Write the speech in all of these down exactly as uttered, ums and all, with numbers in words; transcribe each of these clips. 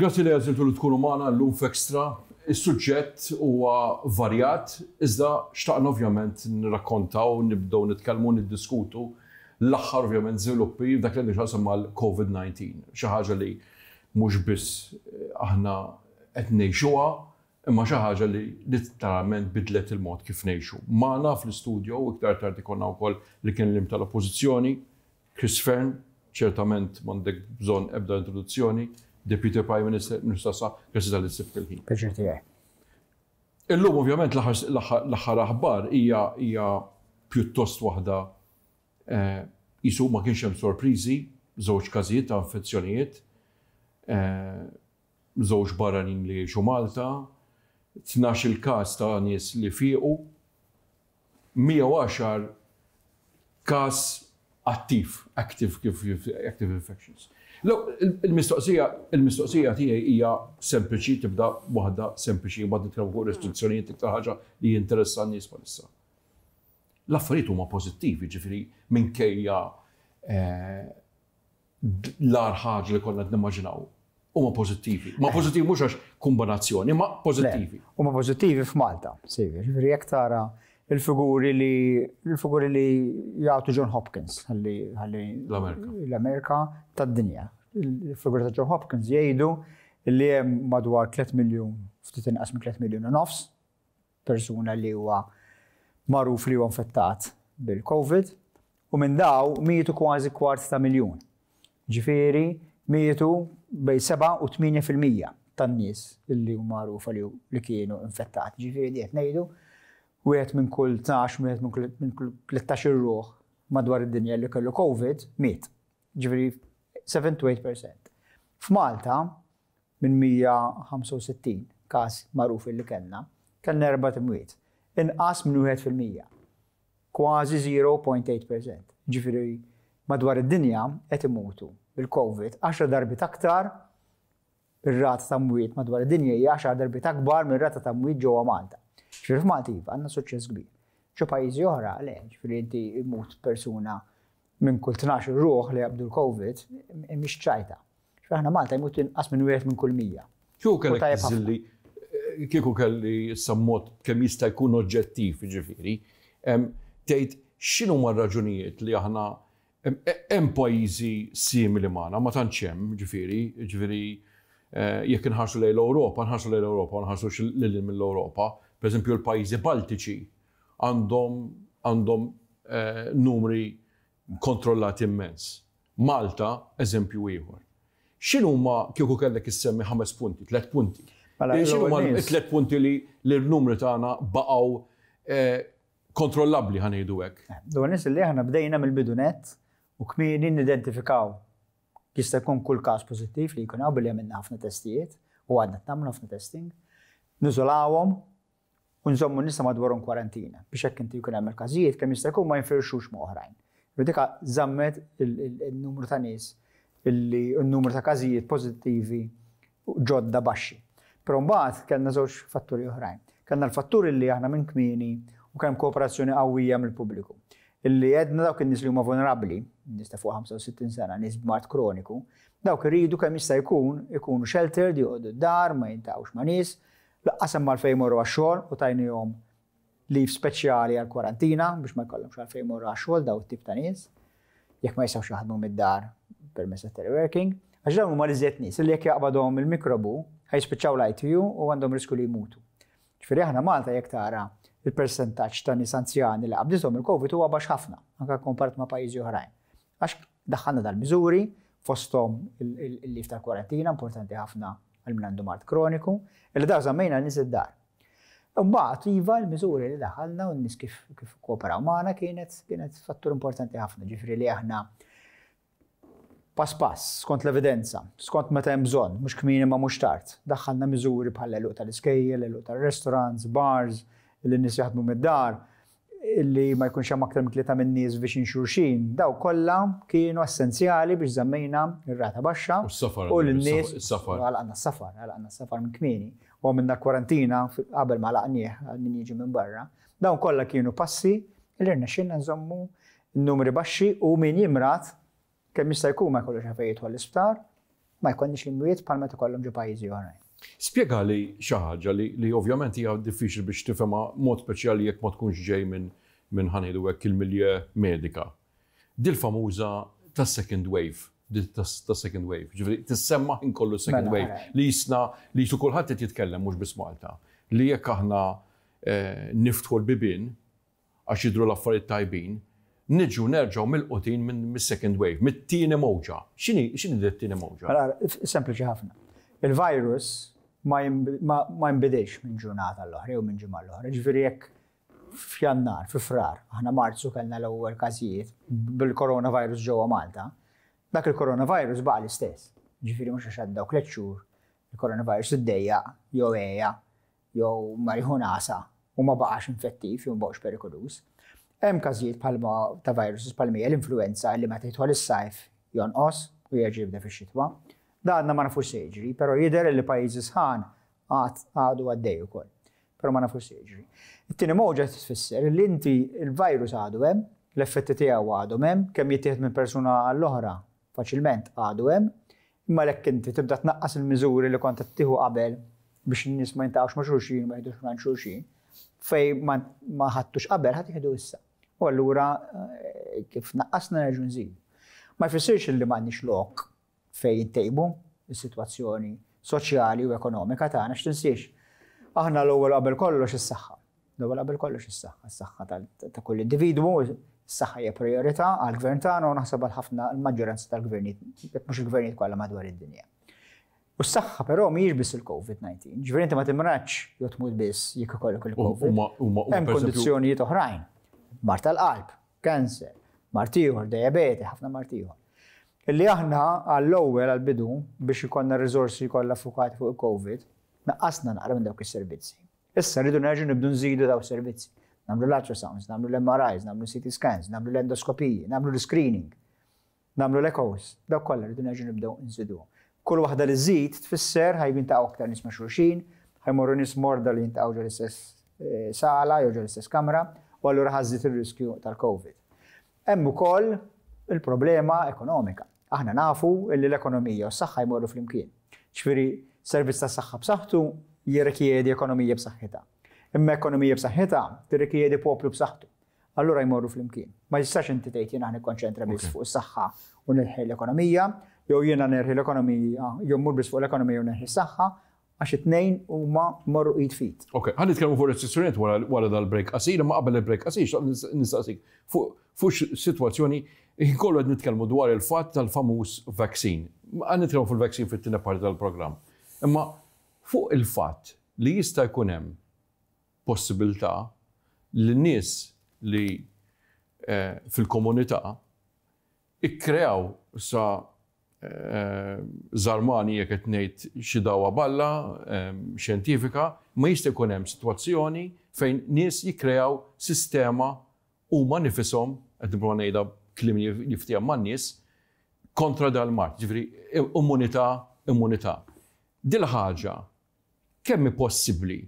Grazzi li għażiltu li tkunu magħna llum f'Extra. Is-suġġett huwa varjat, iżda xtaqna ovvjament nirrakkontaw, nibdew nitkellmu, niddiskutu l-aħħar ovvjament żviluppi dak li għandu x'jaqsam mal-Covid nineteen. Xi ħaġa li mhux biss aħna qed ngħixuha, imma xi ħaġa li letteralment bidlet il-mod kif ngħixu. Magħna fl-istudio iktar tard ikollna wkoll li kien l tal-Oppożizzjoni, Chris Fearne, ċertament m'għandek bżonn ebda introduzzjoni, Deputy Prime Minister, Ministru tas-Saħħa, grazzi talli sibt il-ħin. Pjaċir tiegħi. Illum ovvjament l-aħħar aħbar hija hija pjuttost waħda qisu ma kienx hemm sorpriżi, żewġ każijiet ta' infezzjonijiet, żewġ barranin li jgħixu Malta, tnax il-każ ta' nies li fiequ, mija u għaxar każ attiv, active, kif, active infections. Il-mistoqsija, il-mistoqsija tiegħi hija sempliċi, tibda waħda sempliċi, mbagħad nitkellmu fuq restrizzjonijiet, iktar ħaġa li jinteressa n-nies bħalissa. L-affarijiet huma pożittivi, ġifieri minkejja l-agħar ħaġa li konna nimmaġinaw, huma pożittivi. Ma pożittivi mhux għax kombinazzjoni, ma pożittivi. Huma pożittivi f'Malta, sejjer, ġifieri jekk tara il-figuri li il-figuri li jagħtu John Hopkins ħalli ħalli l-Amerika. L-Amerika tad-dinja. Il-figuri ta' John Hopkins jgħidu li hemm madwar tliet miljun, ftit inqas minn tliet miljun u nofs persuna li huwa magħruf li huwa infettat bil-Covid u minn daw mietu kważi kwart ta' miljun. Ġifieri mietu bejn seba' u tmienja fil-mija tan-nies li huma magħrufa li, li kienu infettati. Ġifieri qed ngħidu wieħed minn kull tnax, wieħed minn kull, minn kull tlettax ir-ruħ madwar id-dinja li kellu Covid miet. Ġifieri seven to eight percent. F'Malta minn mija ħamsa u sittin każ magħruf li kellna, kellna erba' imwiet. Inqas minn wieħed fil-mija. Kważi zero point eight percent. Ġifieri madwar id-dinja qed imutu bil-Covid għaxar darbiet aktar, ir-rata ta' mwiet madwar id-dinja hija għaxar darbiet akbar mir-rata ta' mwiet ġewwa Malta. Ġifieri f'Malta iva għandna suċċess kbir. Ġo pajjiżi oħra le, ġifieri inti imut persuna minn kull tnax ruħ li jaqbdu l-Covid, mhix ċajta. Ġifieri aħna Malta jmut inqas minn wieħed minn kull mija. Kieku kellek U tajjeb ħafna. tiżilli, kieku kelli issa mod kemm jista' jkun oġġettiv, ġifieri, em, tgħid x'inhu huma r-raġunijiet li aħna hemm pajjiżi simili magħna, ma tantx hemm, ġifieri, ġifieri, eh, jekk inħarsu lejn l-Ewropa, nħarsu lejn l-Ewropa, nħarsu lil mill-Ewropa, pereżempju l-pajjiżi Baltiċi għandhom, għandhom, eh, numri kontrollati immens. Malta, eżempju ieħor. X'inhuma kieku kellek issemmi ħames punti, tliet punti? Mela, Eh, x'inhuma l-ewwel nies. tliet punti li l-numri tagħna baqgħu, eh, kontrollabbli, ħa ngħidu hekk? Eh, l-ewwel nies li aħna bdejna mill-bidu nett u kmieni nidentifikaw jista' jkun kull każ pożittiv li jkun hawn billi għamilna ħafna testijiet u għadna nagħmlu ħafna testing, niżolawhom u nżommu nisa madwarhom kwarantina biex hekk inti jkun hemm il-każijiet kemm jista' jkun ma jinfirxux ma' oħrajn. U dika żammet il-, il-, il-numru ta' nies illi n-numru ta' każijiet pożittivi ġodda baxxi. Però mbagħad kellna żewġ fatturi oħrajn. Kellna l-fatturi li aħna minn kmieni u kemm kooperazzjoni qawwija mill-pubbliku. Illi għedna dawk in-nies li huma vulnerabbli, nies ta' fuq ħamsa u sittin sena, nies b'mard kroniku, dawk iridu kemm jista' jkun ikunu sheltered, joqogħdu d-dar, ma jintaqgħux ma' nies, laqqas hemm għalfejn jmorru għax-xogħol u tajnihom leave speċjali għall-kwarantina biex ma jkollhomx għalfejn jmorru għax-xogħol daw it-tip ta' nies, jekk ma jistgħux jaħdmu mid-dar permezz ta' teleworking, għax dawn huma l-iżjed nies li jekk jaqbadhom il-mikrobu ħajspiċċaw l-I T U u għandhom risku li jmutu. Ġifieri aħna Malta jekk tara il-percentaġġ ta' nies anzjani li qabdithom il-Covid huwa baxx ħafna, anke komparat ma' pajjiżi oħrajn. Għax daħħalna dal-miżuri fosthom il-, il-, il-lif tal-kwarantina, importanti ħafna għal min għandu mard kroniku, illi daw żammejna n-nies id-dar. Imbagħad iva l-miżuri li daħħalna u n-nies kif, kif kooperaw magħna kienet, kienet fattur importanti ħafna, ġifieri li aħna pass pass, skont l-evidenza, skont meta hemm bżonn, mhux kmieni ma mhux tard. Daħħalna miżuri bħal l-għeluq tal-iskejjel, l-għeluq tal-restaurants, bars, li n-nies jaħdmu mid-dar, illi ma jkunx hemm aktar minn tlieta minn nies viċin xulxin, daw kollha kienu essenzjali biex żammejna r-rata baxxa U s-safar, u lin-nies is-safar. Għalaqna s-safar, għalaqna s-safar minn kmieni. U għamilna kwarantina qabel ma għalaqnieh għal min jiġi minn barra. Dawn kollha kienu passi li rnexxielna nżommu n-numri baxxi u min jimrat kemm jista' jkun ma jkollux għalfejn jidħol l-isptar Ma jkollniex l-imwiet bħal meta kollhom ġo pajjiżi oħrajn. Spjegali xi ħaġa li, li ovvjament hija diffiċli biex tifhemha, mod speċjali jekk ma tkunx ġej minn minn ħa ngħidu hekk, il-milieu medika. Dil famuża ta' second wave, ta' second wave. Ġifieri tissemma inkollu second mela, wave li jisna li jisu kulħadd qed jitkellem, mhux biss Malta. Li jekk aħna eh, niftħu l-bibien għax jidru l-affarijiet tajbin, niġu nerġgħu milqutin minn mis-second wave, mit-tieni mowġa. X'inhi x'inhi t-tieni mowġa? Mela, sempliċi ħafna. Il-virus ma jinbidilx minn ġurnata l-oħra jew minn ġimgħa l-oħra. Ġifieri jekk f'Jannar, fi Frar, aħna Marzu kellna l-ewwel każijiet bil-coronavirus ġewwa Malta, dak il-coronavirus baqa' l-istess. Ġifieri mhux għax għaddew tliet xhur il-coronavirus iddejjaq jew għeja jew mar jieħu nagħsa u ma baqax infettiv jew ma baqax perikoluż. Hemm każijiet bħalma ta' viruses bħalma l-influenza li meta jidħol is-sajf jonqos u jerġa' jibda fix-xitwa. Da għadna ma nafux se jiġri, però jidher li pajjiżi sħan għad għadu għaddej ukoll. Però ma nafux se jiġri. It-tieni mowġa tfisser li inti il-virus għadu hemm, l-effetti tiegħu għadu hemm, kemm jittieħed minn persuna għall-oħra faċilment għadu hemm, imma jekk inti tibda tnaqqas il-miżuri li kont qed tieħu qabel biex in-nies ma jintaqgħux ma' xulxin, ma jgħidux ma' xulxin, fej ma ħadtux qabel ħa tieħdu issa. U allura eh, kif naqqasna nerġgħu nżidu. Ma jfissirx li m'għandniex lok fejn intejbu is-sitwazzjoni soċjali u ekonomika tagħna, x'tinsiex. Aħna l-ewwel qabel kollox is-saħħa. L-ewwel qabel kollox is-saħħa, is-saħħa ta' kull individwu, is-saħħa hija priorità għall-gvern tagħna u naħseb għal ħafna l-maġġoranza tal-gvernijiet, jekk mhux il-gvernijiet kollha madwar id-dinja. U s-saħħa però mhijiex biss il-COVID disa. Ġifieri inti ma timradx jew tmut biss jekk ikollok il-COVID. Hemm kondizzjonijiet oħrajn. Mard tal-qalb, cancer, mard ieħor, diabete, ħafna mard ieħor. Illi aħna għall-ewwel, għall-bidu, biex ikollna riżorsi kollha fukati fuq il-COVID, naqqasna naqra minn dawk is-servizzi. Issa rridu nerġgħu nibdu nżidu dawk is-servizzi. Nagħmlu l-ultrasounds, nagħmlu l-M R Is, nagħmlu C T scans, nagħmlu l-endoskopiji, nagħmlu l-screening, nagħmlu l-echoes, dawk kollha rridu nerġgħu nibdew nżidu. Kull waħda li żid tfisser ħa jiltaqgħu aktar nies ma' xulxin, ħa jmorru nies morda li jiltaqgħu ġo l-istess eh, sala jew ġo l-istess kamra, u allura ħa żżid ir-riskju tal-COVID. Hemm ukoll il-problema ekonomika. Aħna nafu illi l-ekonomija u s-saħħa jmorru flimkien. Ġifieri servizz ta' saħħa b'saħħtu jirrikjedi ekonomija b'saħħitha. Imma ekonomija b'saħħitha tirrikjedi poplu b'saħħtu. Allura jmorru flimkien. Ma jistax inti tgħid jiena nikkonċentra biss fuq is-saħħa u nneħħi l-ekonomija, jew jiena nneħħi l-ekonomija, jew mmur biss fuq l-ekonomija u nneħħi s-saħħa, għax it-tnejn huma morru id f'id. Ok, ħa nitkellmu fuq restrizzjonijiet wara wara dal-break qasir, imma qabel il-break qasir xtaqt nistaqsik fuq fuq sitwazzjoni kollu qed nitkellmu dwar il-fatt tal-famuż vaccine. Ħa nitkellmu fuq il-vaccine fit-tieni parti tal-programm. Imma fuq il-fatt li jista' jkun hemm possibilità li nies li eh, fil-komunità ikkreaw sa eh, żarmani jekk qed ngħid xi dawa balla eh, xjentifika, ma jista' jkun hemm sitwazzjoni fejn nies jikkreaw sistema huma nifisom, qed nipprova ngħidha kliem jiftiehem man-nies, kontra dal-mard, ġifieri immunità, immunità. Dil ħaġa kemm hi possibbli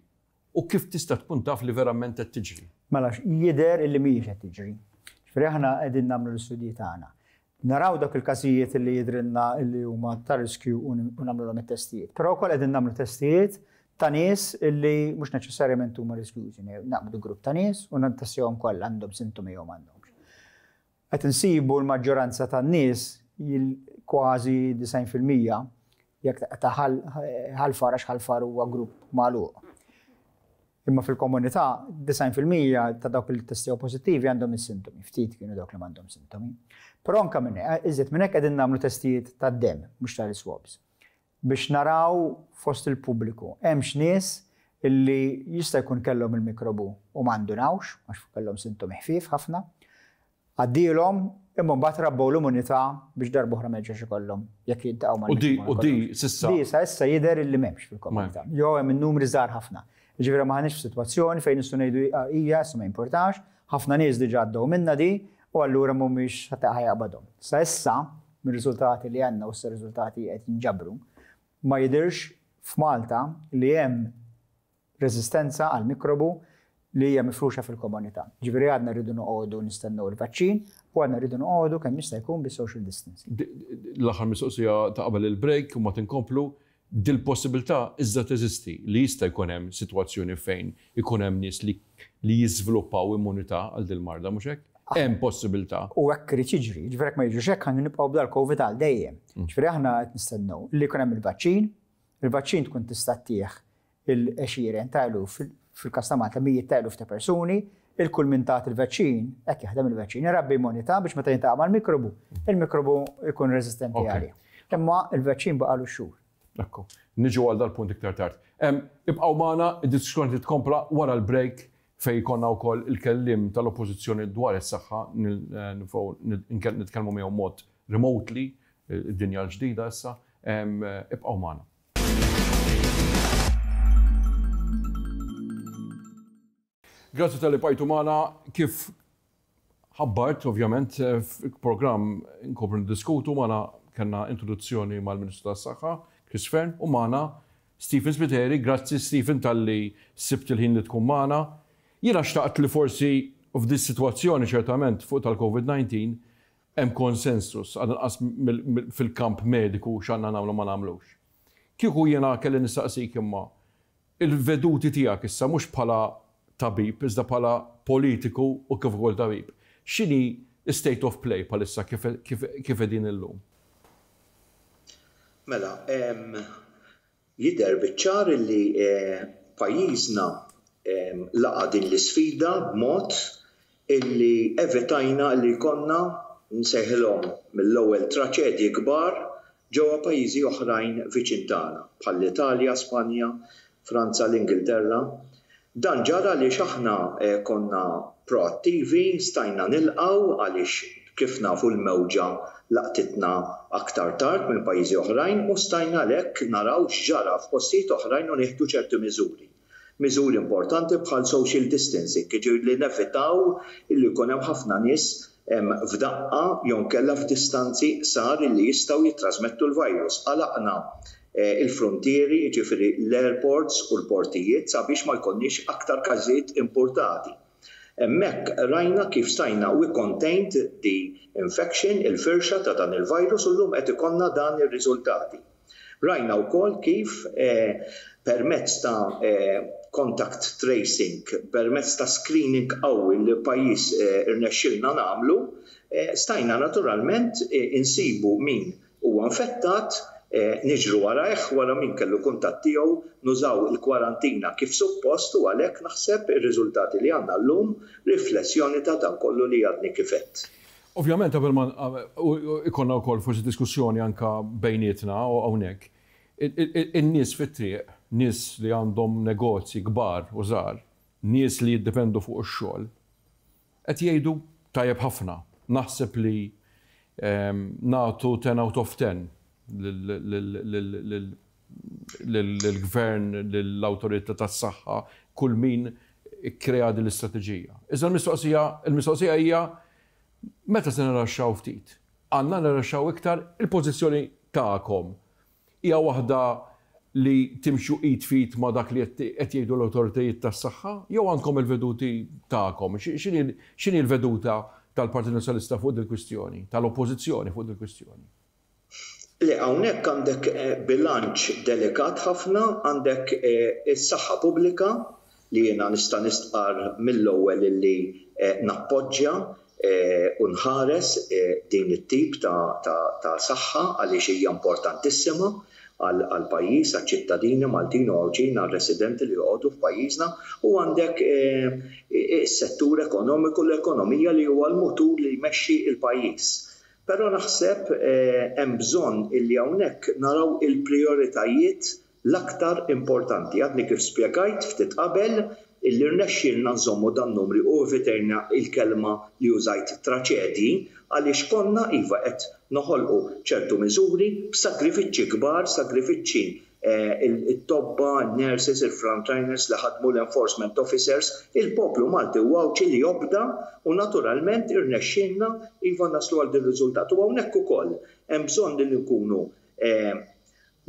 u kif tista' tkun taf li verament qed tiġri? Mela, jidher illi mhijiex qed tiġri. Ġifieri aħna qegħdin nagħmlu l-istudji tagħna. Naraw dak il-każijiet li jidrilna illi huma ta' riskju u nagħmluhom it-testijiet. Però wkoll qegħdin nagħmlu testijiet ta' nies illi mhux neċessarjament huma riskjużi. Naqbdu grupp ta' nies u nittestjahom kollha, għandhom sintomi jew m'għandhomx. Qed insibu l-maġġoranza tan-nies, kważi disgħin fil-mija, jekk ta' Ħal Far, għax Ħal Far huwa grupp magħluq. Imma fil-komunità, disgħin fil-mija ta' dawk li testjaw pożittivi għandhom is-sintomi, ftit kienu dawk li m'għandhom sintomi. Però anke minn iżjed minn hekk qegħdin nagħmlu testijiet tad-dem, mhux tal-swabs, biex naraw fost il-pubbliku hemm nies illi jista' jkun kellhom il-mikrobu u ma ndunawx għax kellhom sintomi ħfief ħafna. Għaddielhom, imma mbagħad rabbew l-immunità biex darba oħra ma jerġax ikollhom jekk jiltaqgħu mal. U di u di s'issa. Di sa issa jidher illi m'hemmx fil-komunità. Jew hemm in-numri żgħar ħafna. Ġifieri m'aħniex f'sitwazzjoni fejn nistgħu ngħidu hija issa ma importax, ħafna nies diġà għaddew minna di u allura mhumiex ħa jaqbadhom. Sa issa, mir-riżultati li għandna, u s-riżultati qed jinġabru, ma jidirx f'Malta li hemm reżistenza għal mikrobu li hija mifruxa fil-komunità. Ġifieri għadna rridu noqogħdu nistennew il-vaċċin u għadna rridu noqogħdu kemm jista' jkun bis-social distancing. L-aħħar mistoqsija ta' qabel il-break u ma tinkomplu, dil-possibilità iżda teżisti li jista' jkun hemm sitwazzjoni fejn ikun hemm nies li li jiżviluppaw immunità għal dil-marda, mhux hekk? Hemm possibilità. U hekk irid jiġri, ġifieri jekk ma jiġux hekk ħa nibqgħu b'dal-Covid għal dejjem. Ġifieri aħna qed nistennew li jkun hemm il-vaċċin, il-vaċċin tkun tista' ttih il-għexieren ta' eluf, fil-każ ta' Malta mijiet ta' eluf ta' persuni, il-kull min tat il-vaċċin, hekk jaħdem il-vaċċin, irabbi immunità biex meta jiltaqa' mal-mikrobu, il-mikrobu jkun reżistenti għalih. Imma il-vaċċin baqalu xhur. Ekku, niġu għal dal-punt iktar tard. Ibqgħu magħna, id-diskussjoni titkompla wara l-break fej konna wkoll il-kellim tal-Oppożizzjoni dwar is-saħħa, nitkellmu miegħu mod remotely, id-dinja l-ġdida issa. Ibqgħu magħna. Grazzi talli bqajtu magħna. Kif ħabbart, ovvjament, fil-programm nkomplu niddiskutu magħna kellna introduzzjoni mal-Ministru tas-Saħħa, Chris Fearne, u magħna Stephen Spiteri. Grazzi Stephen talli sibt il-ħin li tkun magħna. Jiena xtaqt li forsi f'dis sitwazzjoni ċertament fuq tal-Covid nineteen hemm konsensus għal inqas fil-kamp mediku x'għandna nagħmlu ma nagħmlux. Kieku jiena kelli nistaqsik imma il-veduti tiegħek issa mhux bħala tabib, iżda bħala politiku u kif ukoll tabib. X'inhi state of play bħalissa kif, kif, kif qegħdin illum? Mela, jidher biċ-ċar li pajjiżna laqa' din l-isfida b'mod illi evitajna li jkollna nsejħilhom mill-ewwel traċedji kbar ġewwa pajjiżi oħrajn viċin tagħna bħall-Italja, Spanja, Franza, l-Ingilterra. Dan ġara għaliex aħna konna proattivi, stajna nilqgħu għaliex kif nafu l-mewġa laqtitna aktar tard minn pajjiżi oħrajn u stajna għalhekk naraw x'ġara f'postijiet oħrajn u nieħdu ċerti miżuri. Miżuri importanti bħal social distancing, jiġifieri li nevitaw illi jkun hemm ħafna nies f'daqqa jew inkella f'distanzi qsar illi jistgħu jittrasmettu l-virus. Għalaqna il-frontieri, jiġifieri l-airports u l-portijiet sabiex ma jkollniex aktar każijiet importati. Hemmhekk rajna kif stajna we contained the infection, il-firxa ta' dan il-virus u llum qed ikollna dan ir-riżultati. Rajna wkoll kif permezz ta' contact tracing, permezz ta' screening qawwi li pajjiż irnexxilna nagħmlu, stajna naturalment insibu min huwa infettat, niġru warajh wara min kellu kuntatt tiegħu, nużaw il-kwarantina kif suppost u għalhekk naħseb ir-riżultati li għandna llum riflessjoni ta' dan kollu li għadni kif għedt. Ovvjament qabel ma ikollna wkoll forsi diskussjoni anka bejnietna u hawnhekk, in-nies fit-triq, nies li għandhom negozji kbar u żgħar, nies li jiddependu fuq ix-xogħol, qed jgħidu tajjeb ħafna. Naħseb li nagħtu ten out of ten lill-gvern, lill-awtorità tas-saħħa, kull min ikkrea din l-istrateġija. Iżda l-mistoqsija, il-mistoqsija hija meta se nirraxxaw ftit? Għandna nirraxxaw iktar? Il-pożizzjoni tagħkom hija waħda li timxu id fit ma' dak li qed jgħidu l-awtoritajiet tas-saħħa jew għandkom il-veduti tagħkom? X'inhi l-veduta tal-Partit Nazzjonalista fuq dil-kwistjoni, tal-Oppożizzjoni fuq dil-kwistjoni? Le, hawnhekk għandek bilanċ delikat ħafna, għandek is-saħħa pubblika li jiena nista' nistqar mill-ewwel illi nappoġġja u nħares din it-tip ta' saħħa għaliex hija importantissima għall-pajjiż, għaċ-ċittadini Maltin u Għawdxin, għar-residenti li joqogħdu f'pajjiżna, u għandek is-settur ekonomiku, l-ekonomija li huwa l-mutur li jmexxi l-pajjiż. Però naħseb hemm bżonn illi hawnhekk naraw il-prijoritajiet l-aktar importanti. Għadni kif spjegajt ftit qabel illi rnexxielna nżommu dan numri u evitejna il-kelma li użajt traċedji għaliex konna iva qed noħolqu ċertu miżuri b'sagrifiċċji kbar, sagrifiċċji it-tobba, nurses, il-frontliners li ħadmu l-enforcement officers, il-poplu Malti u Għawdxi li jobda u naturalment irnexxielna iva naslu għal din riżultat. U hawnhekk ukoll hemm bżonn li nkunu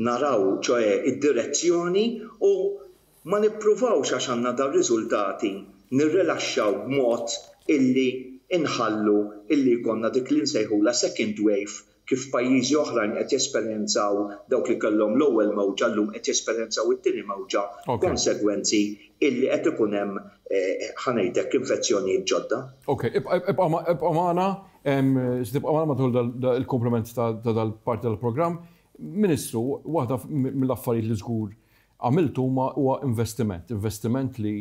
naraw ċoe id-direzzjoni u ma nippruvawx għax għandna dar riżultati nirrilaxxaw b'mod illi inħallu illi jkollna dik li nsejħula second wave, kif pajjiżi oħrajn qed jesperjenzaw, dawk li kellhom l-ewwel mewġa llum qed jesperjenzaw it-tieni mewġa, konsegwenzi illi qed ikun hemm, eh, ħa ngħidlek, infezzjonijiet ġodda. Ok, ibqa' magħna, tibqa' magħna matul il-komplement ta' dal-parti tal-programm. Ministru, waħda mill-affarijiet li żgur għamiltu huwa investiment, investiment li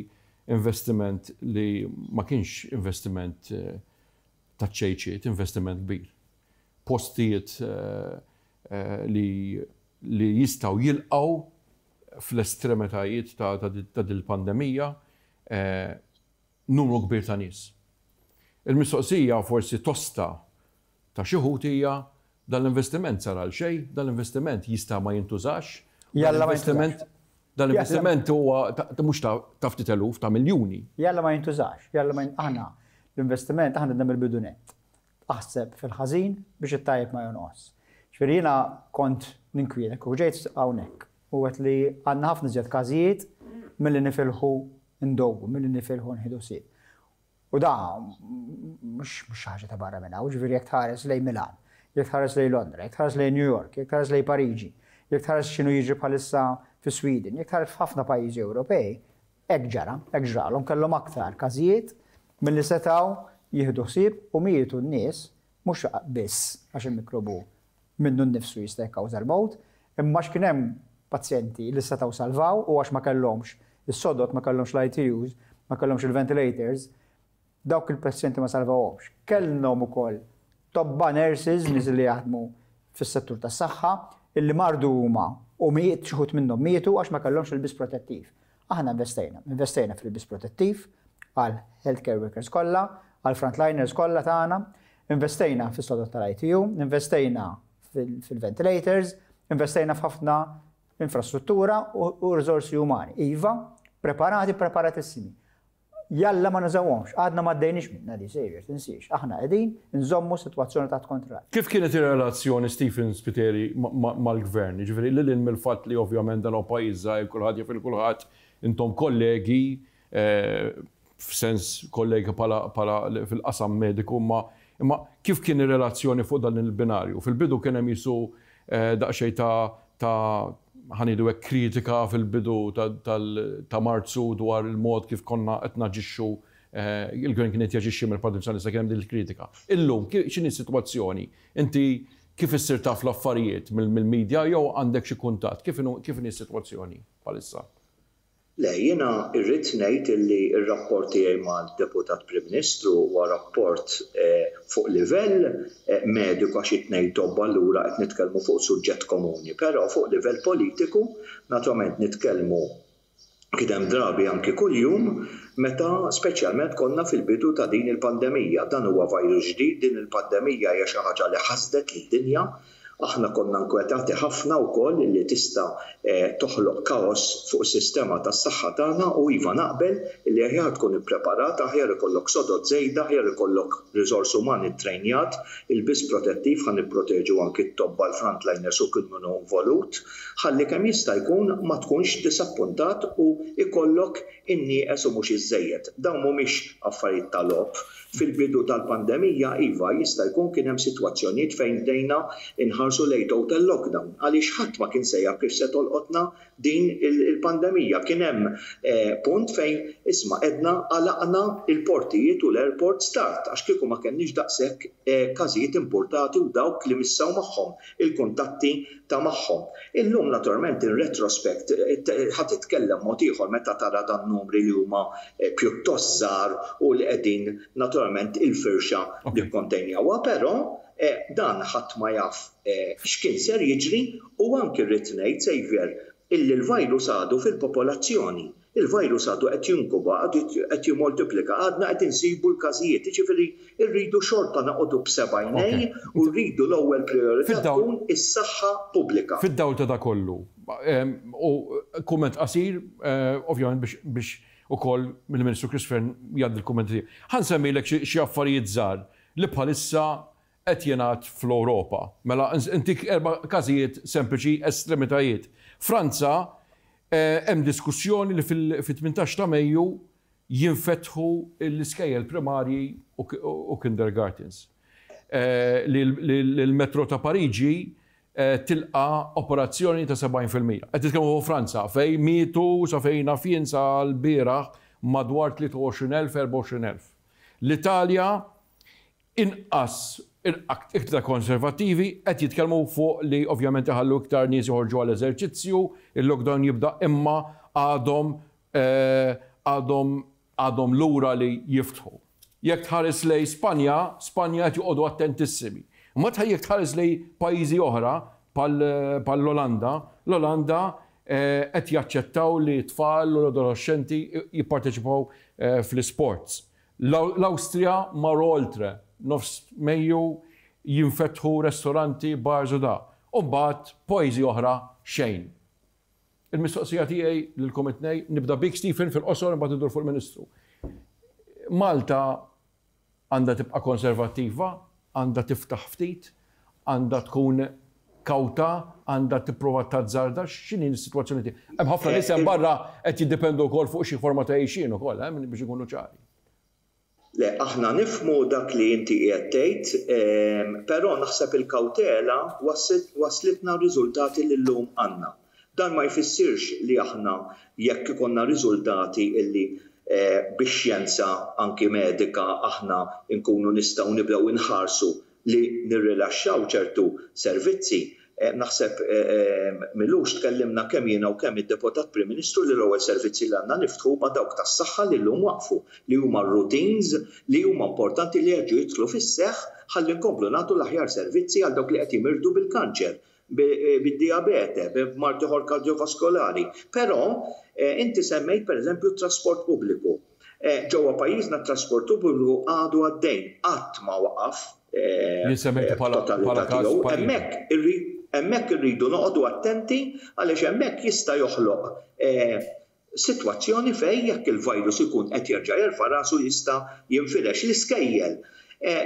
investiment li ma kienx investiment eh, ta' ċejċiet, investiment kbir. Postijiet eh, eh, li, li jistgħu jilqgħu fl-estremitajiet ta', ta, ta dil-pandemija numru kbir ta' nies. Il-mistoqsija forsi tosta ta' xi hija: dan l-investiment sar għal xejn, dan l-investiment jista' ma jintużax? Jalla ma investiment Dan l-investiment huwa mhux ta' ftit eluf, ta' miljuni. Jalla ma jintużax, jalla ma aħna l-investiment aħna għedna mill-bidu nett. Aħseb fil-ħażin biex it-tajjeb ma jonqos. Ġifieri jiena kont ninkwieta u ġejt hawnhekk u għedt li għandna ħafna iżjed każijiet milli nifilħu ndowwu, milli nifilħu nieħdu ħsieb. U da mhux mhux ħaġa ta' barra minn hawn, ġifieri jekk tħares lejn Milan, jekk tħares lejn Londra, jekk tħares lejn New York, jekk tħares lejn Pariġi, jekk tħares x'inhu jiġri bħalissa fi Sweden, jekk tħares f'ħafna pajjiżi Ewropej, hekk ġara, hekk ġralhom, kellhom aktar każijiet milli setgħu jieħdu ħsieb u mietu n-nies, mhux biss għax il-mikrobu minnu nnifsu jista' jikkawża l-mewt, imma x'kien hemm pazjenti li setgħu salvaw u għax ma kellhomx is-sodod, ma kellhomx l-I T Us, ma kellhomx il-ventilators, dawk il-pazjenti ma salvawhomx. Kellhom ukoll tobba, nurses, nies li jaħdmu fis-settur tas-saħħa illi mardu huma u miet xi wħud minnhom mietu għax ma kellhomx il-ilbies protettiv. Aħna investejna, investejna fil-ilbies protettiv għal healthcare workers kollha, għal frontliners kollha tagħna, investejna fis-sodod tal-I T U, investejna fil-ventilators, investejna f'ħafna infrastruttura u risorsi umani. Iva, preparati, preparatissimi. Jalla ma nużawhomx, għadna ma għaddejniex minna di sejjer, tinsiex. Aħna qegħdin nżommu sitwazzjoni ta' kontroll. Kif kienet ir-relazzjoni, Stephen Spiteri, mal-gvern? Ġifieri lil mill-fatt li ovvjament dan pajjiż żgħir, kulħadd jaf kulħadd, intom kollegi, eh, f'sens kollegi pala fil-qasam mediku, ma imma kif kien ir-relazzjoni fuq dan il-binarju? Fil-bidu kien hemm jisu eh, daqsxejn ta' ta' ħa ngħidu hekk kritika fil-bidu ta' Marzu dwar il-mod kif konna qed naġixxu, eh, il-gvern kien qed jaġixxi mill-Partit Nazzjonalista, kien hemm din il-kritika. Illum x'inhi s-sitwazzjoni? Inti kif issir taf l-affarijiet, mill-medja jew għandek xi kuntatt? Kif inhi s-sitwazzjoni bħalissa? Le, jiena irrid ngħid illi r-rapport tiegħi mal-Deputat Prim Ministru huwa rapport eh, fuq livell eh, mediku, għax it-tnejn tobba, allura qed nitkellmu fuq suġġett komuni, però fuq livell politiku naturalment nitkellmu kien hemm drabi anki kuljum meta speċjalment konna fil-bidu ta' din il-pandemija. Dan huwa virus ġdid, din il-pandemija hija xi ħaġa li ħasdet lid-dinja. Aħna konna nkwetati ħafna wkoll li tista' eh, toħloq kaos fuq is-sistema tas-saħħa tagħna u iva, naqbel li aħjar tkun ippreparat, aħjar ikollok sodod żejda, aħjar ikollok riżors umani ttrejnjat, ilbies protettiv ħa nipproteġu anki t-tobba, l-frontliners u kull min hu involut, ħalli kemm jista' jkun ma tkunx disappuntat u ikollok in-nieqes u mhux iż-żejjed. Dawn mhumiex affarijiet tal-logħob. Fil-bidu tal-pandemija, iva, jista' jkun kien hemm sitwazzjonijiet fejn bdejna inħarsu lejn total lockdown għaliex ħadd ma kien se jaf kif se tolqotna din il-pandemija. Kien hemm eh, punt fejn isma' għedna għalaqna il-portijiet u l-airport start għax kieku ma kenniex daqshekk eh, każijiet importati u dawk li missaw magħhom, il-kuntatti ta' magħhom. Illum naturalment in retrospect eh, ħa titkellem mod ieħor meta tara dan numri li huma pjuttost żgħar u li qegħdin naturalment il-firxa li kontenjawha, però dan ħadd ma jaf x'kien ser jiġri. U anki rrid ngħid, Xavier, illi l-virus għadu fil-popolazzjoni. Il-virus għadu qed jinkuba, għadu qed jimultiplika, għadna qed insibu l-każijiet, ġifieri rridu xorta noqogħdu b'seba' għajnejn u rridu l-ewwel priorità tkun is-saħħa pubblika. Fid-dawl ta' kollu, u kumment qasir, eh, ovvjament biex ukoll mill-Ministru Chris Fearne jgħaddi l-kummenti. Ħa nsemmilek xi affarijiet żgħar li bħalissa qed jingħad fl-Ewropa. Mela intik erba' każijiet sempliċi, estremitajiet. Franza, eh, hemm diskussjoni li fil-tmintax ta' Mejju Jinfetħu l-iskejjel primarji u kindergartens. Li l-metro ta' Pariġi tilqa operazzjoni ta' sebgħin fil-mija. Qed titkellmu fuq Franza, fejn mietu sa fejn naf jien sa l-bieraħ madwar tlieta u għoxrin elf, erbgħa u għoxrin elf. L-Italja inqas, iktar konservativi, qed jitkellmu fuq li ovvjament iħallu iktar nies joħorġu għal eżerċizzju, il-lockdown jibda, imma għadhom għadhom għadhom lura li jiftħu. Jekk tħares lejn Spanja, Spanja qed joqogħdu attentissimi. Ma jekk tħares lejn pajjiżi oħra bħall-Olanda, l-Olanda qed jaċċettaw li tfal u l-adolescenti jipparteċipaw fl-sports. L-Awstrija marru oltre, nofs Mejju jinfetħu ristoranti, bars u da. U mbagħad pajjiżi oħra xejn. Il-mistoqsija tiegħi lilkom it-tnejn, nibda bik, Stephen, fil-qosor, imbagħad idur fuq il-Ministru. Malta għandha tibqa' konservattiva, għandha tiftaħ ftit, għandha tkun kawta, għandha tipprova tazzarda, x'inhi s-sitwazzjoni tiegħek? Hemm ħafna nies hemm barra qed jiddependu wkoll fuq xi forma ta' għixien ukoll, eh, biex ikunu ċari. Le, aħna nifhmu dak li inti qiegħed tgħid, però naħseb il-kawtela waslitna riżultati li llum għandna. Dan ma jfissirx li aħna, jekk ikollna riżultati illi eh, bix-xjenza anki medika aħna nkunu nistgħu nibdew inħarsu li nirrilaxxaw ċertu servizzi. Eh, naħseb eh, m'ilux tkellimna kemm jiena u kemm id-Deputat Prim Ministru li l-ewwel servizzi li għandna niftħu ma dawk tas-saħħa li llum waqfu, li huma routines li huma importanti li jerġgħu jidħlu fis-seħħ ħalli nkomplu nagħtu l-aħjar servizzi għal dawk li qed jimirdu bil-kanċer, bid-diabete, b'mard ieħor kardiovaskolari. Però inti semmejt, pereżempju, trasport pubbliku. Ġewwa pajjiżna trasport pubbliku għadu għaddejn, qatt ma waqaf. Bħala każ. Hemmhekk hemmhekk irridu noqogħdu attenti għaliex hemmhekk jista' joħloq sitwazzjoni fejn jekk il-virus ikun qed jerġa' jerfa' rasu jista' jinfirex. L-iskejjel.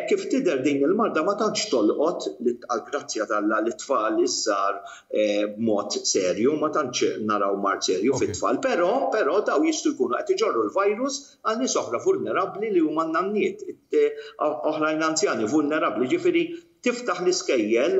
Kif tidher, din il-marda ma tantx tolqot, għal-grazzja t'Alla, l-tfal iż-żgħar b'mod serju, ma tantx naraw mard serju fit-tfal, però però daw jistgħu jkunu qed iġorru l-virus għal nies oħra vulnerabbli li huma nanniet, oħrajn anzjani vulnerabbli, ġifieri tiftaħ l-iskejjel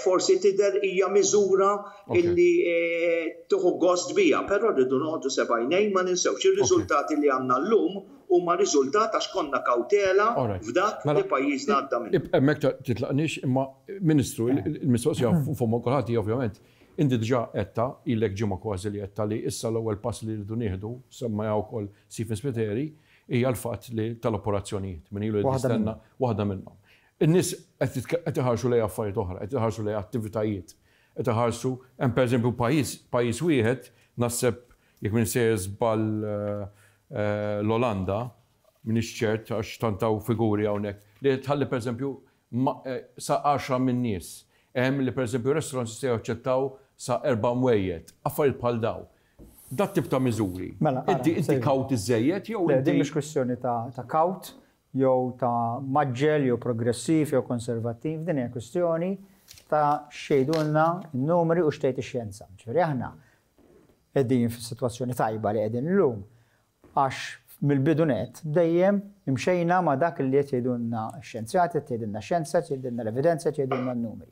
forsi tidher hija miżura illi tieħu gost biha, però rridu noqogħdu sebgħajnejn. Ma ninsewx, ir-riżultati li għandna llum huma riżultat għax konna kawtela f'dak li pajjiżna għadda minn. Hemmhekk titlaqniex, imma Ministru, il-mistoqsija fuq kulħadd, ovvjament, inti diġà għedtha, ilek ġimgħa kważi li għedtha li issa l-ewwel pass li rridu nieħdu, semma wkoll Stephen Spiteri, hija l-fatt li tal-operazzjonijiet, min ilu jistenna waħda minnhom. In-nies qed iħarsu lejn affarijiet oħra, qed iħarsu lejn attivitajiet, qed iħarsu hemm, pereżempju, pajjiż pajjiż wieħed, naħseb jekk minn sejjer żball l-Olanda, m'iniex ċert għax tant hawn figuri hawnhekk, li tħalli pereżempju sa għaxra minn nies. Hemm li, pereżempju, restaurants jistgħu jaċċettaw sa erba' mwejjed, affarijiet bħal daw. Dat tip ta' miżuri. Mela, Inti inti kawt iżejjed jew Le, din mhix kwestjoni ta' ta' kawt jew ta' mgħaġġel jew progressiv jew konservattiv, din hija kwestjoni ta' x'jgħidulna n-numri u x'tgħid ix-xjenza. Ġifieri aħna qegħdin fis-sitwazzjoni tajba li qegħdin illum għax mill-bidu net dejjem imxejna ma' dak li qed jgħidulna x-xjenzjati, qed jgħidulna x-xjenza, qed jgħidulna l-evidenza, qed jgħidulna n-numri.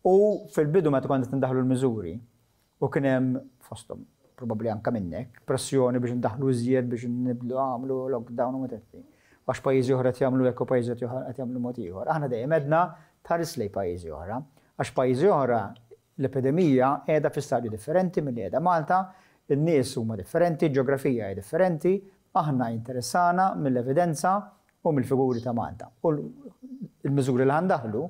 U fil-bidu meta konna tindaħlu l-miżuri u kien hemm fosthom probabbli anka minnek pressjoni biex ndaħlu iżjed, biex niblu għamlu lockdown u mutetti. Għax pajjiżi oħra qed jagħmlu hekk u pajjiżi oħra qed jagħmlu mod ieħor. Aħna dejjem għedna tħares lejn pajjiżi oħra. Għax pajjiżi oħra l-epidemija qiegħda fi stadju differenti milli qiegħda Malta, in-nies huma differenti, ġeografija hija differenti, aħna interessana mill-evidenza u mill-figuri ta' Malta. U l-miżuri li ħa ndaħħlu,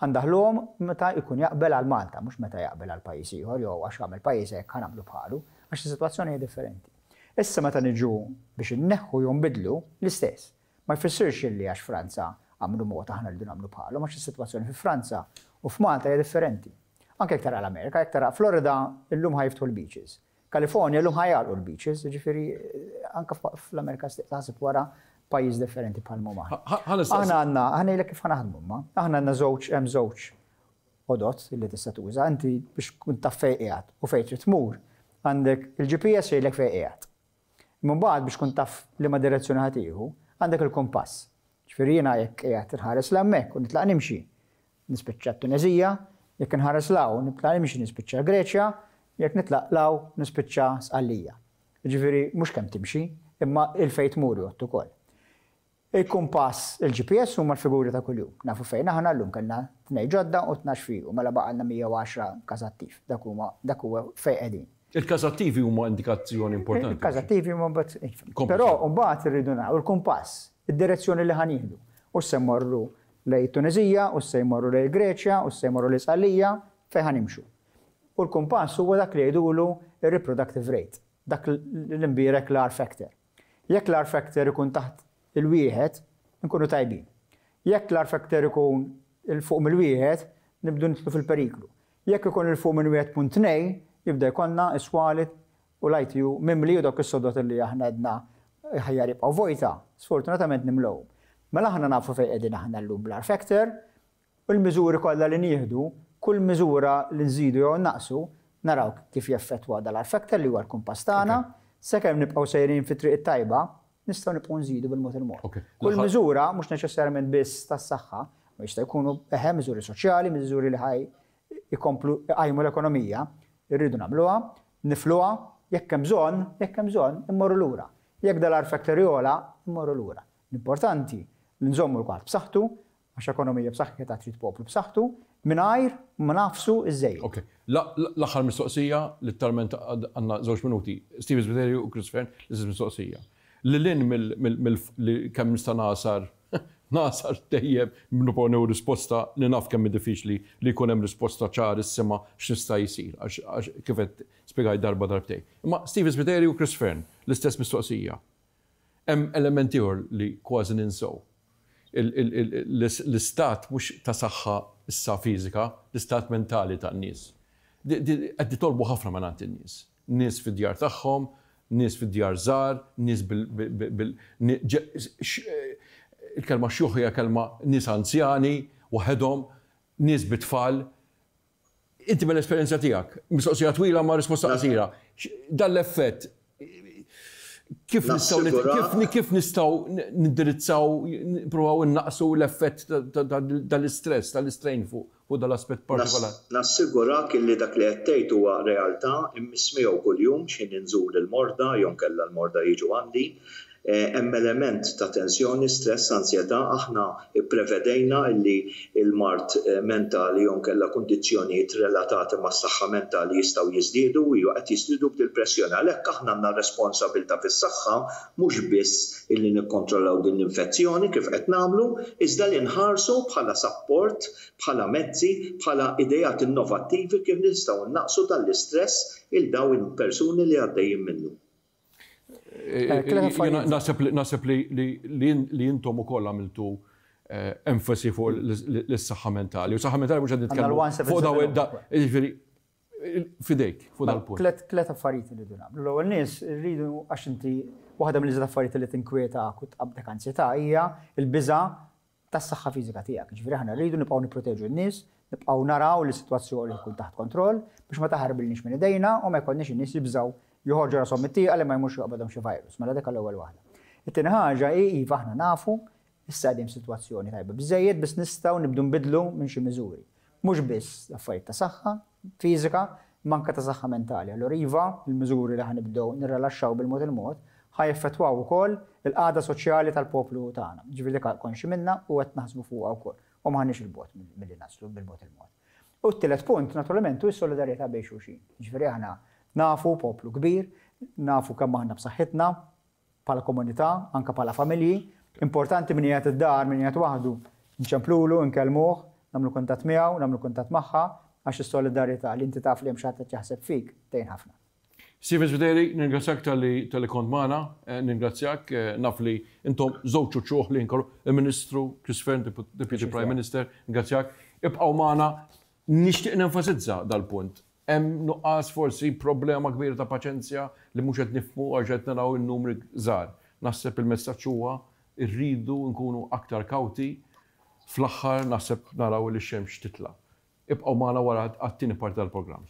ħa ndaħħluhom meta jkun jaqbel għal Malta, mhux meta jaqbel għal pajjiż ieħor jew għax għamel pajjiż hekk ħa nagħmlu bħalu, għax is-sitwazzjoni hija differenti. Issa meta niġu biex inneħħu jew nbidlu, l-istess. Ma jfissirx illi għax Franza għamlu mod aħna rridu nagħmlu bħalu, għax is-sitwazzjoni fi Franza u f'Malta hija differenti. Anke jekk tara l-Amerika, jekk tara Florida, illum ħa jiftħu l-beaches. Kalifornia llum ħa jagħlqu l-beaches, ġifieri anke fl-Amerika taħseb wara pajjiż differenti bħal mhuma. Aħna għandna, aħna ngħidlek kif ħa naħdmu ma. Aħna għandna żewġ hemm żewġ għodod li tista' tuża inti biex tkun taf fejn qiegħed u fejn trid tmur. Għandek il-G P S jgħidlek fejn qiegħed. Imma mbagħad biex tkun taf liema direzzjoni ħa tieħu, għandek il-kompass. Ġifieri jiena jekk qiegħed inħares 'l hemmhekk u nitlaq nimxi, nispiċċa t-Tuneżija, jekk inħares 'l hawn nitlaq nimxi nispiċċa Greċja, jekk nitlaq 'l hawn nispiċċa Sqallija. Ġifieri mhux kemm timxi, imma 'il fejn tmur jgħodd ukoll. Il-kumpass, il-G P S huma l-figuri ta' kuljum. Nafu fejn aħna llum, kellna tnejn ġodda u tnax fiqu, mela baqgħalna mija u għaxra każ attiv. Dak huma dak huwa fejn qegħdin. Il-każ attivi huma indikazzjoni importanti. Il-każ attivi huma mbagħad. Però mbagħad irridu naraw il-kumpass, id-direzzjoni li ħa nieħdu. U se mmorru lejn Tuneżija, u se jmorru lejn Greċja, u se jmorru lejn Sqallija, fejn ħa nimxu. U l-kumpass huwa dak li jgħidulu ir-reproductive rate, dak l-imbierek l-R factor. Jekk l-R factor ikun taħt il-wieħed, nkunu tajbin. Jekk l-R factor ikun 'il fuq mill-wieħed, nibdu nidħlu fil-periklu. Jekk ikun 'il fuq minn wieħed punt tnejn, jibda jkollna is-swali u l-I T U mimli u dawk is-sodod li aħna għedna aħjar jibqgħu vojta, sfortunatament nimlew. Mela aħna nafu fejn qegħdin aħna llum bl-R factor u l-miżuri kollha li nieħdu, kull miżura li nżidu jew naqsu, naraw kif jeffettwa dal-R factor li huwa l-kumpass tagħna, sakemm nibqgħu sejrin fit-triq it-tajba, nistgħu nibqgħu nżidu bil-mod il-mod. Kull miżura mhux neċessarjament biss tas-saħħa, ma jista' jkunu eħe miżuri soċjali, miżuri li ħa jkomplu jqajmu l-ekonomija, irridu nagħmluha, nifluha, jekk hemm bżonn, jekk hemm bżonn, immorru lura. Jekk dal-R factor jogħla, immorru lura. L-importanti li nżommu l-kwart b'saħħtu, għax ekonomija b'saħħitha trid poplu b'saħħtu, mingħajr ma nagħfsu iż-żejjed. Ok. L-aħħar mistoqsija, literalment għandna żewġ minuti. Steve Spiteri u Chris Fearne, l-istess mistoqsija. Lil hinn mill kemm nista' nagħsar nagħsar dejjem nipponew risposta li naf kemm diffiċli li jkun hemm risposta ċarissima x'nista' jsir, għax kif qed spjegajt darba darbtejn. Imma Steve Spiteri u Chris Fearne, l-istess mistoqsija. Hemm element ieħor li kważi ninsew. L-istat mhux ta' saħħa issa fiżika, l-istat mentali tan-nies. Qed nitolbu ħafna minn in-nies. Nies fid-djar tagħhom, nies fid-djar żgħar, nies bil il-kelma xjuħ hija kelma, nies anzjani, waħedhom, nies bit-tfal. Inti mill-esperjenza tiegħek, mistoqsija twila ma' risposta qasira. Dan l-effett kif nistgħu kif nistgħu nindirizzaw, nippruvaw innaqsu l-effett tal-istress, tal-istrain fuq dal-aspett partikolari? Nassigurak li dak li qed tgħid huwa realtà immiss miegħu kuljum x'ħin inżur il-morda jew kella l-morda jiġu għandi. Eh, hemm element ta' tensjoni, stress, ansjetà. Aħna ipprevedejna li il-mard eh, mentali jew kella kundizzjonijiet relatati mas-saħħa mentali jistgħu jiżdiedu u qed jiżdiedu b'dil-pressjoni. Għalhekk aħna għandna responsabilità fis-saħħa mhux biss illi nikkontrollaw din l-infezzjoni kif qed nagħmlu, iżda li nħarsu bħala support, bħala mezzi, bħala idejat innovattivi kif nistgħu naqsu dal-istress lil dawn il-persuni li għaddejjin minnu. Eh, naħseb li intom ukoll għamiltu eh, enfasi fuq l-saħħa mentali. U saħħa mentali mhux qed nitkellmu fuq daw, jiġifieri fidejk fuq dal-punt. Tlet affarijiet li rridu nagħmlu. L-ewwel nies rridu, għax inti waħda mill affarijiet li tinkwieta u tqabdek ansjetà hija l-biża' tas-saħħa fiżika tiegħek. Ġifieri aħna rridu nibqgħu nipproteġu n-nies, nibqgħu naraw li s-sitwazzjoni tkun taħt kontroll biex ma taħarbilniex minn idejna u ma jkollniex in-nies jibżgħu joħorġu rashom mit-tieqa li ma jmurx joqbadhom xi virus. Mela dik l-ewwel waħda. It-tieni ħaġa hi, iva, aħna nafu issa qegħdin sitwazzjoni tajba biżejjed biss nistgħu nibdu nbidlu minn xi miżuri. Mhux biss affarijiet ta' saħħa fiżika, manka ta' saħħa mentali. Allura iva, il-miżuri li ħa nibdew nirrelaxxaw bil-mod il-mod ħa jeffettwaw ukoll il-qagħda soċjali tal-poplu tagħna. Ġifieri dik konxi minna u qed naħsbu fuqha wkoll. U m'aħniex 'il bogħod milli naslu bil-mod il-mod. U t-tielet punt, naturalment, hu s-solidarjetà bejn xulxin. Ġifieri aħna nafu poplu kbir, nafu kemm aħna b'saħħitna bħala komunità, anka bħala familji. Importanti min qiegħed id-dar, min qiegħed waħdu, nċemplulu, nkellmuh, nagħmlu kuntatt miegħu, nagħmlu kuntatt magħha, għax is-solidarjetà li inti taf li hemm xi ħadd qed jaħseb fik tgħin ħafna. Stephen Spiteri, ningrazzjak talli talli kont magħna, eh, ningrazzjak, eh, naf li intom żewġ uċuħ li nkollu il-Ministru Chris Fearne, Deputy Prime Minister, ningrazzjak. Ibqgħu magħna, nixtieq nenfasizza dal-punt. Hemm nuqqas, forsi problema kbira ta' paċenzja li mhux qed nifhmu għax qed naraw in-numri żgħar. Naħseb il-messaġġ huwa rridu nkunu aktar kawti, fl-aħħar naħseb naraw li x-xemx titla'. Ibqgħu magħna wara għat-tieni parti tal-programm.